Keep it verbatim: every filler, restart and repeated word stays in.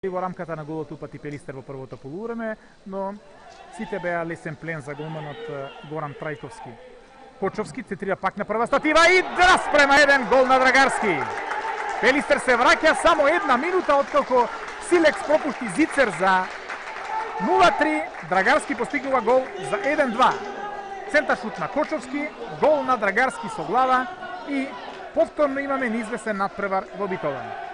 Во рамката на голот упати Пелистер во првото полувреме, но сите беа лесен плен за голманот Горан Трајковски. Кочовски центрира пак на прва статива и распрема еден гол на Драгарски. Пелистер се враќа само една минута откако Силекс пропушти Зицер за нула три, Драгарски постигнува гол за еден два. Центар шут на Кочовски, гол на Драгарски со глава и повторно имаме неизвестен надпревар во Битолан.